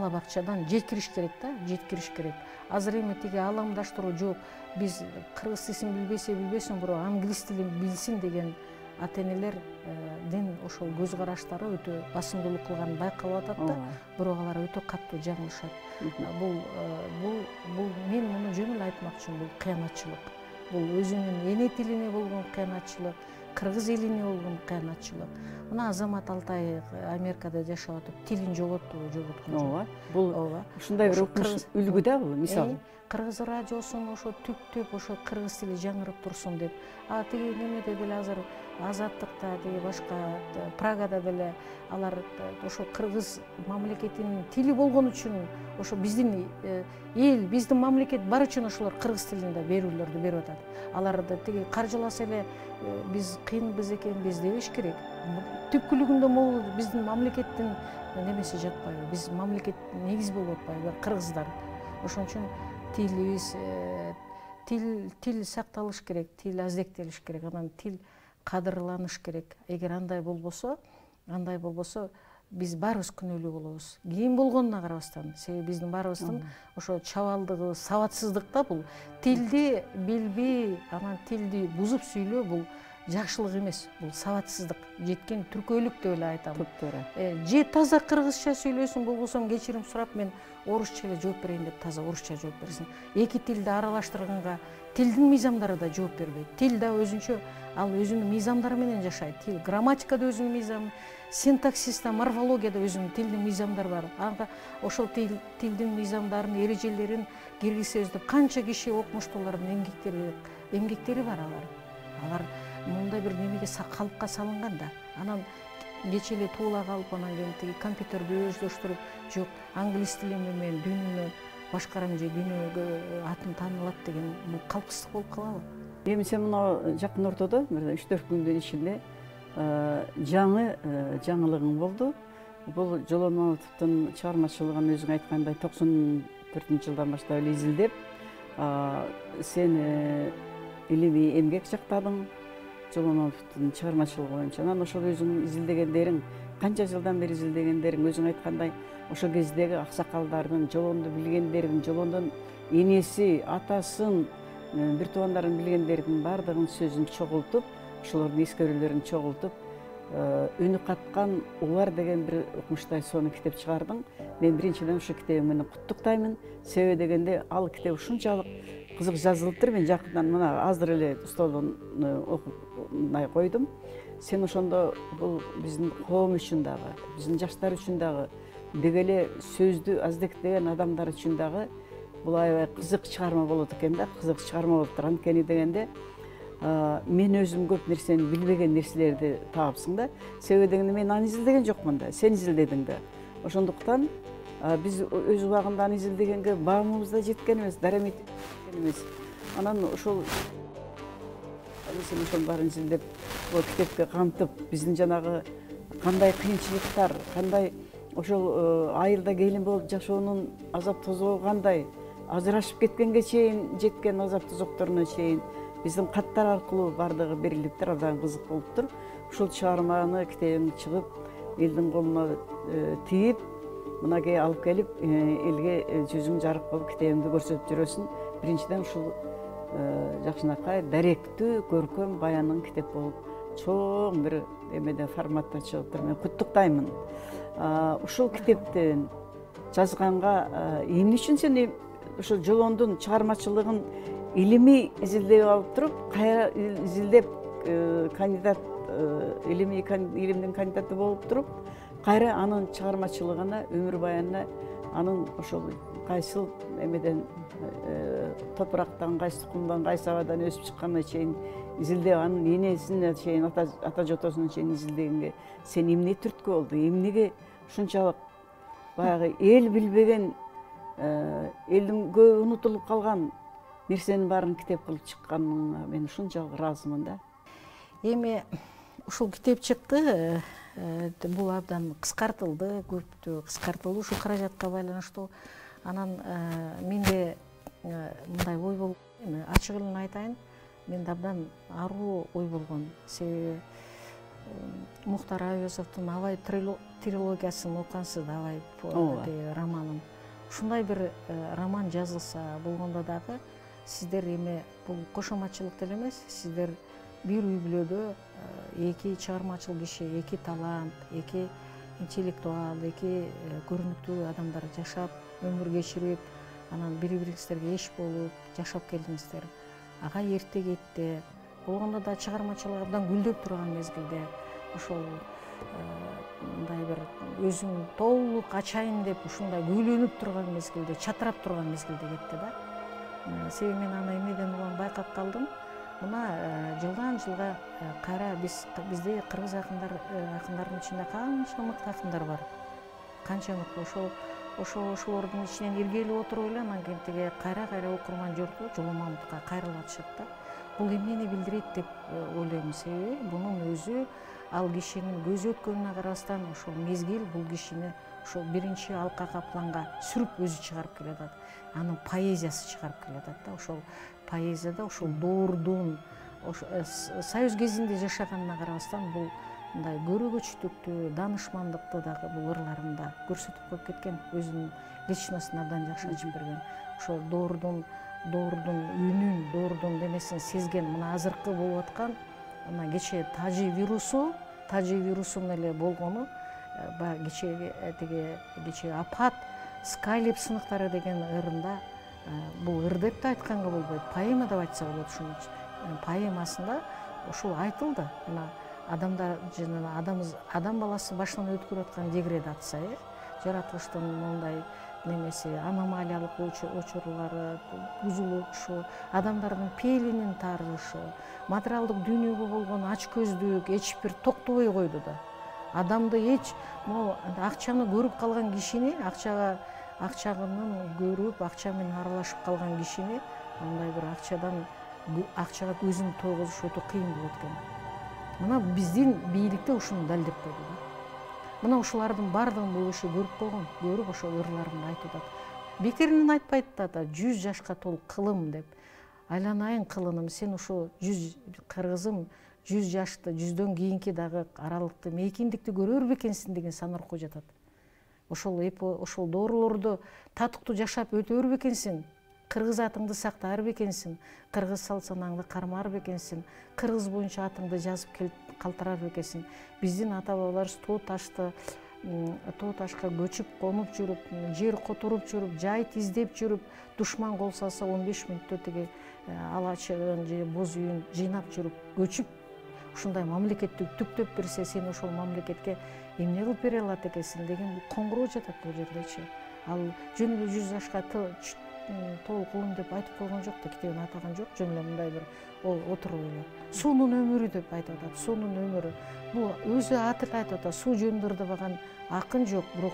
бакчадан жеткириш керек да, жеткириш керек. Азыр эми тиги ааламдаштыруу жок. Биз кыргыз тилин билбесе билбесин, бирок англис тилин билсин деген ата-энелердин ошол көз караштары өтө басымдуулук кылганын байкалып атат да, бирок алар өтө катуу жаңылышат. Бул мен муну жөн эле айтмакчымын, бул кыянатчылык. Бул өзүнүн эне тилине болгон кыянатчылык, кыргыз элине болгон кыянатчылык. Мына Азамат Алтай Америкада жашап атып тилин жоготкон жок. Ооба. Бул ушундай бир үлгү да бул, мисалы. Кыргыз радиосун ошо түптөп ошо кыргыз тили жаңырып турсун деп. Тиги немеде деле азыр Азаттыкта, тиги башка Прагада деле алар ошо кыргыз мамлекетинин тили болгон үчүн ошо биздин эл, биздин мамлекет бар үчүн ошолор кыргыз тилинде берүүлөрдү берип атат. Аларды тиги каржыласа эле биз кыйынбыз экенбиз дебеш керек. Түпкүлүгүндө могул биздин мамлекеттин немеси жатпайбы? Биз мамлекет негиз болуп атпайбы кыргыздар? Ошон үчүн тилибиз, тил сакталыш керек, тил аздектелиш керек, анан тил кадырланыш керек. Эгер андай болбосо биз баарыбыз күнөөлүү болобуз. Кийин болгонуна карабастан, себеби биздин баарыбыздын ошо чабалдыгыбыз, сабатсыздык да бул. Тилди билбей, анан тилди бузуп сүйлөө бул жакшылык эмес, бул сабатсыздык, жеткен түркөөлүк деп эле айтам. Же таза кыргызча сөйлөсүн, болбосо кечирим сурап мен орусча эле жооп берейин деп таза орусча жооп берсин. Эки тилди аралаштырганга тилдин мыйзамдары да жооп бербейт. Тил да өзүнчө, ал өзүнүн мыйзамдары менен жашайт. Тил грамматикада өзүнүн мыйзамы, синтаксиста, морфологияда өзүнүн тилдин мыйзамдары бар. Ага ошол тилдин мыйзамдарын, эрежелерин киргизсебиз деп канча киши окумуштуулардын эмгектери бар алар мындай бир немеге калыпка салынган да. Анан кече эле туула калып, анан кийин тиги компьютерди өздөштүрүп, жок, англис тили менен дүйнөнү башкарам же дүйнөгө атым таанылат деген бул калпсыздык болуп калабы? Эми сен мына жакын ортодо, бир 3-4 күндүн ичинде жаңы жаңылыгың болду. Бул Жоломатовдун чыгармачылыгын өзүң айткандай 94-жылдан баштап эле изилдеп, сен илимий эмгек жактадың Жоломатовдун чыгармачылыгы боюнча. Анан ошол өзүң изилдегендериң, канча жылдан бери изилдегендериң, өзүң айткандай ошол кездеги аксакалдардын, жолонду билгендердин, жолондун энеси, атасын, бир туугандарын билгендердин баардыгынын сөзүн чогултуп, ошолордун эскерүүлөрүн чогултуп, үнү каткан Улар деген бир укмуштай сонун китеп чыгардың. Мен биринчиден ушу китебиң менен куттуктаймын. Себеби дегенде ал китеп ушунчалык кызык жазылыптыр. Мен жакындан мына азыр эле столдон окуп койдум. Сен ошондо бул биздин коом үчүн дагы, биздин жаштар үчүн дагы, деги эле сөздү аздектеген адамдар үчүн дагы бул аябай кызык чыгарма болот экен да, кызык чыгарма болуптур. Анткени дегенде мен өзүм көп нерсени билбеген нерселерди таапсың да. Себеби дегенде мен аны изилдеген жокмун да, сен изилдедиң да. Ошондуктан биз өз убагында аны изилдегенге баамыбыз да жеткен эмес, дарамет жеткен эмес. Анан ошол сен ошонун баарын изилдеп, бул китепке камтып, биздин жанагы кандай кыйынчылыктар, кандай ошол айылда келин болуп жашоонун азап тозогу кандай, ажырашып кеткенге чейин жеткен азап тозокторуна чейин биздин каттар аркылуу баардыгы берилиптир, абдан кызык болуптур. Ушул чыгарманы китебиң чыгып, элдин колуна тийип, мынакей алып келип, элге жүзүң жарык болуп китебиңди көрсөтүп жүрөсүң. Биринчиден ушул жакшынакай, даректүү, көркөм, баянын китеп болуп, чоң бир эмеде форматта чыгыптыр. Мен куттуктаймын. Ушул китептен жазганга эмне үчүн сен ошол Жолондун чыгармачылыгын илимий изилдеп алып туруп, кайра изилдеп кандидат илимдин кандидаты болуп туруп, кайра анын чыгармачылыгына, өмүр баянына, анын ошол кайсыл эмеден топурактан, кайсы тукумдан, кайсы абадан өсүп чыкканына чейин изилдеп, анын энесине чейин, ата жотосуна чейин изилдегенге сен эмне түрткү болду, эмнеге ушунчалык баягы эл билбеген, элдин көп унутулуп калган нерсенин баарын китеп кылып чыкканыңа мен ушунчалык ыраазымын да. Эми ушул китеп чыкты, бул абдан кыскартылды, көптү кыскартылды ушул каражатка байланыштуу. Анан менде мындай ой болгон, эми ачык эле айтайын, менде абдан аруу ой болгон. Себеби Мухтар Айөзовдун Абай трилогиясын окугансыз да, Абай романын. Ушундай бир роман жазылса болгондо дагы сиздер эми бул кошоматчылык деле эмес, сиздер бир үй бүлөдө эки чыгармачыл киши, эки талант, эки интеллектуал, эки көрүнүктүү адамдар жашап, өмүр кечирип, анан бири-бириңиздерге эч болуп жашап келдиңиздер. Ага эрте кетти. Болгондо да чыгармачылык абдан гүлдөп турган мезгилде, ошол мындай бир өзүм толук ачайын деп ушундай көйлөнүп турган мезгилде, чатырап турган мезгилде кетти да. Себеби мен аны эмнеден улам байкап калдым. Мына жылдан жылга кайра бизде кыргыз акындардын ичинде канча мыкты акындар бар. Канча мыкты ошолордун ичинен иргелип отуруп эле анан кийин тиги кайра окурман жорту Жоломамутка кайрылып атышат да. Бул эмнени билдирет деп ойлойм. Себеби бунун өзү ал кишинин көзү өткөнүнө карабастан ошол мезгил бул кишини ошол биринчи алкага планга сүрүп өзү чыгарып келатат. Анын поэзиясы чыгарып келатат да. Ошол поэзияда ошол доордун союз кезинде жашаганына карабастан бул мындай көрөгөчтүктү, данышмандыкты дагы бул ырларында көрсөтүп коюп кеткен. Өзүнүн личностун абдан жакшы ачып берген. Ошол доордун үнүн, доордун немесин сезген. Мына азыркы болуп аткан мына кечээ тажи вирусунун эле болгону, баягы кечээ апат Скайлип сыныктары деген ырында, бул ыр деп да айтканга болбойт, поэма деп айтса болот. Ушунун поэмасында ушул айтылды. Мына адамдар жана адам баласы башынан өткөрүп аткан деградация, жаратылыштын мындай немеси, аномалиялык учурлары, бузулушу, адамдардын пейлинин тарышы, материалдык дүйнөгө болгон ачкөздүк эч бир токтобой койду да. Адамды эч могу акчаны көрүп калган кишини, акчанын көрүп, акча менен аралашып калган кишини мындай бир акчага көзүн тойгузуш өтө кыйын болот экен. Мына биздин бийликте ушуну далилдеп койду да. Мына ушулардын баардыгын бул киши көрүп койгон, көрүп ошол ырларын айтып атат. Бекеринен айтпайт да, 100 жашка толук кылым деп. Айланайын кылыным, сен ушу 100 кыргызым, 100 жашты, 100дөн кийинки дагы аралыкты, мейкиндикти көрөр бекенсиң деген санаркы жатат. Ошол доорулорду татыктуу жашап өтөр бекенсиң, кыргыз атыңды сактар бекенсиң, кыргыз салт санаңды кармар бекенсиң, кыргыз боюнча атыңды жазып калтырар бекенсиң. Биздин ата бабаларыбыз тоо ташка көчүп, конуп жүрүп, жер которуп жүрүп, жайыт издеп жүрүп, душман кол салса 15 мүнөттө тиги алачыгын же боз үйүн жыйнап жүрүп, көчүп, ушундай мамлекетти түктөп берсе, сен ошол мамлекетке эмне кылып бере алат экенсиң деген коңгуроо жатат бул жердечи. Ал жөн эле 100 жашка толук кылым деп айтып койгон жок да, китебин атаган жок, жөн эле мындай бир отуруп эле. Суунун өмүрү деп айтып атат, суунун өмүрү. Бул өзү аты эле айтып атат, суу жөнүндө ырдабаган акын жок, бирок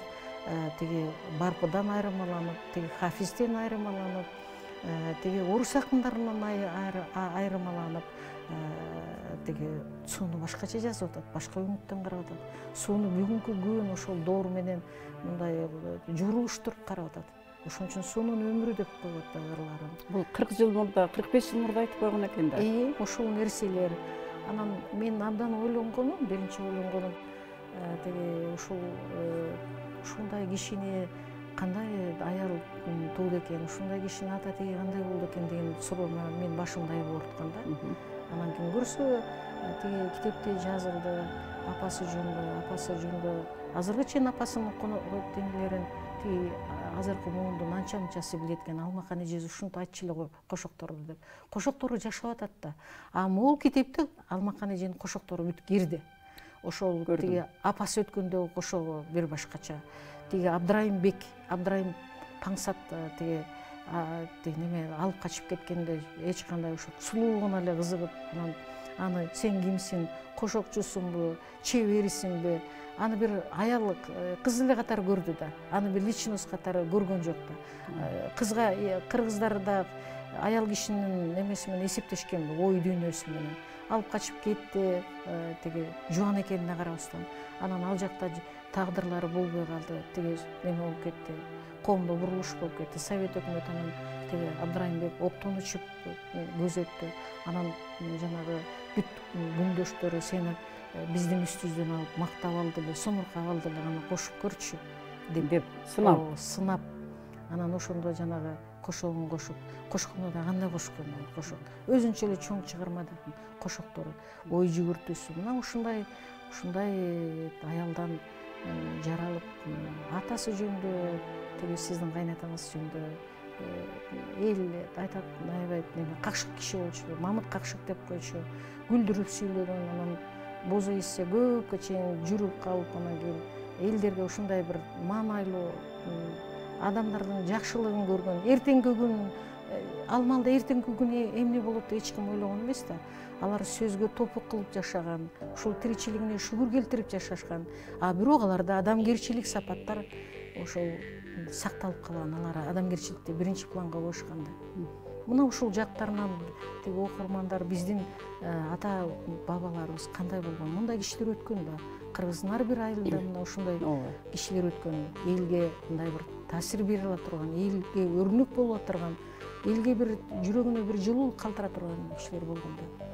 тиги Барпыдан айырмаланып, тиги Хафизден айырмаланып, тиги орус акындарынан айырмаланып, тиги сууну башкача жазып атат, башка үңүттөн карап атат. Сууну бүгүнкү күн ошол доор менен мындай журулуштуруп карап атат. Ошон үчүн суунун өмүрү деп коет да ырларын. Бул 40 жыл мурда, 45 жыл мурда айтып койгон экен да. Ошол нерселер. Анан мен абдан ойлонгонум, биринчи ойлонгонум, тиги ушундай кишини кандай аял тууду экен, ушундай кишинин ата тиги кандай болду экен деген суроону мен башымда болуп аткан да. Анан ким көрсө, тиги китепте жазылды, апасы жөнүндө азыркы чейин апасынын денелерин тиги азыркы муундун анча мынчасы билет экен, Алмакан эжеси ушинтип айтчу эле го кошокторду деп. Кошоктору жашап атат да. А могул китепте Алмакан эженин кошоктору бүтүп кирди. Ошол тиги апасы өткөндөгү кошогу бир башкача. Тиги Абдрайымбек, Абдрайым Паңсат тиги неме алып качып кеткенде эч кандай ошо сулуулугуна эле кызыгып, анан аны сен кимсиң, кошокчусуңбу, чеберисиңби? Аны бир аял кыз эле катары көрдү да. Аны бир личность катары көргөн жок да. Кызга кыргыздарда аял кишинин немеси менен эсептешкен, ой дүйнөсү менен. Алып качып кетти, тиги жубан экенине карабастан. Анан ал жакта тагдырлары болбой калды, тиги неме болуп кетти. Коомдо бурулуш болуп кетти. Совет өкмөтү анан тиги Абдрайымбек оптон учуп көзөттү. Анан жанагы бүт күндөштөрү сени биздин үстүбүздөн алып мактап алды эле, сомуркап алды эле, аны кошуп көрчү деп сынап. Анан ошондо жанагы кошогун кошуп, кошкондо да кандай кошкон кошок. Өзүнчө эле чоң чыгарма да кошоктору, ой жүгүртүүсү. Мына ушундай аялдан жаралып, атасы жөнүндө, тиги сиздин кайнатаңыз жөнүндө эл айтат, аябай какшык киши болчу, Мамыт какшык деп койчу, күлдүрүп сүйлөгөн, анан бозу эссе көпкө чейин жүрүп калып, анан кийин элдерге ушундай бир маанайлуу адамдардын жакшылыгын көргөн. Эртеңки күн алмалда эртеңки күн эмне болот деп эч ким ойлогон эмес да. Алар сөзгө топук кылып жашаган, ушул тиричилигине шүгүр келтирип жашашкан. А бирок аларда адамгерчилик сапаттар ошол сакталып калган. Алар адамгерчиликти биринчи планга коюшкан да. Мына ушул жактарынан тиги окурмандар биздин ата бабаларыбыз кандай болгон, мындай кишилер өткөн да. Кыргыздын ар бир айылында мына ушундай кишилер өткөн, элге мындай бир таасир бере ала турган, элге өрнөк болуп турган, элге бир жүрөгүнө бир жылуулук калтыра турган кишилер болгон да.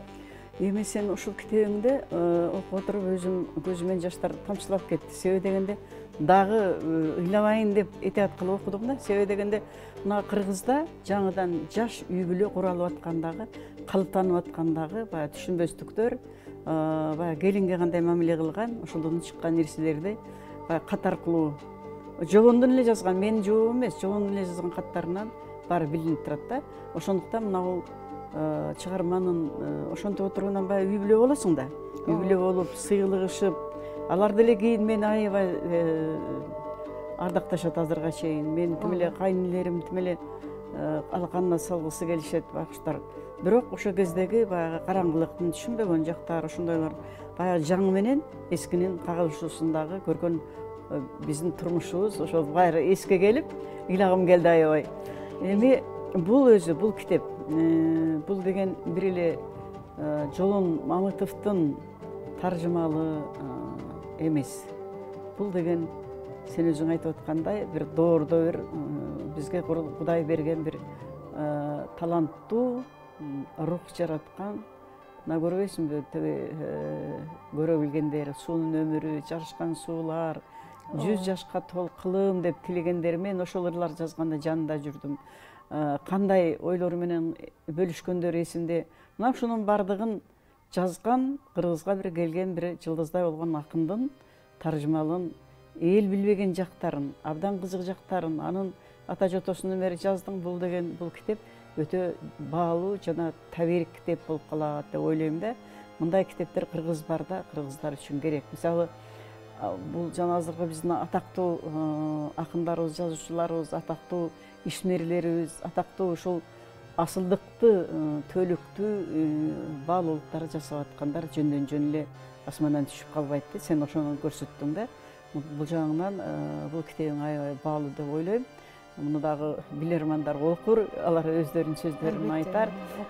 Эми сен ушул китебиңди окуп отуруп өзүм көзүмөн жаштар тамчылап кетти. Себеби дегенде дагы ыйлабайын деп этият кылып окудум да. Себеби дегенде мына Кыргызда жаңыдан жаш үй бүлө куралып аткандагы, калыптанып аткандагы баягы түшүнбөстүктөр, баягы келинге кандай мамиле кылган, ошолдон чыккан нерселерди баягы кат аркылуу жолондон эле жазган, менин жообум эмес, жолондон эле жазган каттарынан баары билинип турат да. Ошондуктан мына бул чыгарманын ошентип отургандан баягы үй бүлө болосуң да. Үй бүлө болуп, сыйлыгышып, алар деле кийин мени аябай ардакташат азырга чейин. Мен тим эле кайнэлерим тим эле алаканына салгысы келишет байкуштар. Бирок ошол кездеги баягы караңгылыктын түшүнбөгөн жактары ошондойлор баягы жаңы менен эскинин кагылышуусундагы көргөн биздин турмушубуз ошол баары эске келип, ыйлагым келди аябай. Эми бул өзү, бул китеп, бул деген бир эле Жолон Мамытовдун таржымалы эмес. Бул деген сен өзүң айтып аткандай бир доордо бир бизге Кудай берген бир таланттуу, рух жараткан, мына көрбөйсүңбү, тиги көрө билгендер, суунун өмүрү, жарышкан суулар, 100 жашка толкулум деп тилегендер, мен ошол ырлар жазганда жанында жүрдүм. Кандай ойлору менен бөлүшкөндөр эсимде. Мына ушунун бардыгын жазган, Кыргызга бир келген бир жылдыздай болгон акындын таржымалын, эл билбеген жактарын, абдан кызык жактарын, анын ата жотосунун бери жаздың. Бул деген бул китеп өтө баалуу жана таберик китеп болуп калат деп ойлойм да. Мындай китептер кыргыз барда, кыргыздар үчүн керек. Мисалы, бул жана азыркы биздин атактуу акындарыбыз, жазуучуларыбыз, атактуу ишмерлерибиз, атактуу ушул асылдыкты, төлүктүү баалуулуктар жасап аткандар жөндөн жөн эле асмандан түшүп калбайт да. Сен ошону көрсөттүң да. Бул жагынан бул китебиң аябай баалуу деп ойлойм. Муну дагы билермандар окур, алар өздөрүнүн сөздөрүн айтар.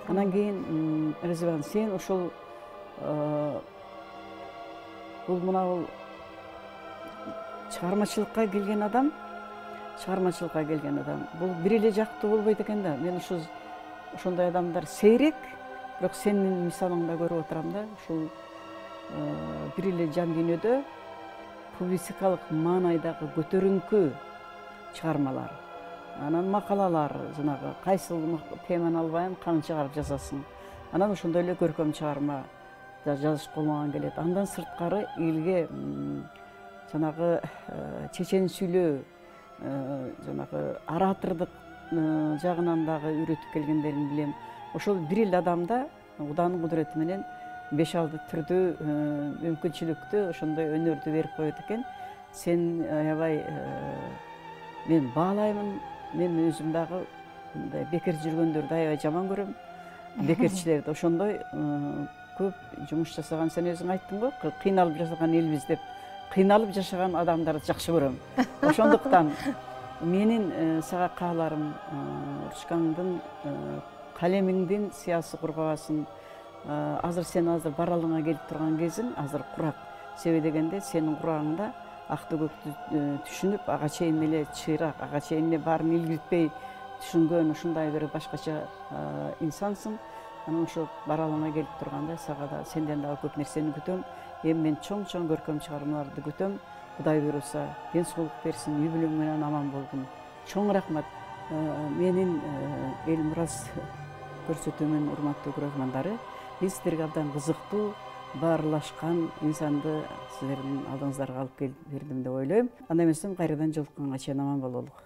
Анан кийин Резибан, сен ошол бул мына бул чыгармачылыкка келген адам, бул бир эле жактуу болбойт экен да. Мен ошондой адамдар сейрек, бирок сенин мисалыңда көрүп отурам да. Ушул бир эле жан дүйнөдө публицистикалык маанайдагы көтөрүңкү чыгармалар, анан макалалар, жанагы кайсыл теманы албайын канын чыгарып жазасың. Анан ошондой эле көркөм чыгарма жазыш колуңан келет. Андан сырткары элге жанагы чечен сүйлөө, жанагы оратордук жагынан дагы үйрөтүп келгендерин билем. Ошол бир эле адамда Куданын кудурети менен 5-6 түрдүү мүмкүнчүлүктү ошондой өнөрдү берип коет экен. Сен аябай мен баалаймын. Мен өзүм дагы мындай бекер жүргөндөрдү аябай жаман көрөм. Бекерчилерди ошондой көп жумуш жасаган, сен өзүң айттың го, кыйналып жашаган элбиз деп. Кыйналып жашаган адамдарды жакшы көрөм. Ошондуктан менин сага кааларым Ручкаңдын калемиңдин сыясы кургабасын. Азыр сен баралыңа келип турган кезиң азыр курак. Себеби дегенде сенин курагыңда акты көктү түшүнүп, ага чейин эле чыйрак, ага чейин эле баарын илгиртпей түшүнгөн ушундай бир башкача инсансың. Анан ошо баралыңа келип турганда сага да сенден дагы көп нерсени күтөм. Эми мен чоң көркөм чыгармаларды күтөм. Кудай буйруса, ден соолук берсин, үй бүлөң менен аман болгун. Чоң рахмат. Менин эл мурас көрсөтүүмүн урматтуу көрөрмандары. Мен сиздерге абдан кызыктуу, баарлашкан инсанды сиздердин алдыңыздарга алып келип бердим деп ойлойм. Анда эмесе кайрадан жолукканга чейин аман бололук.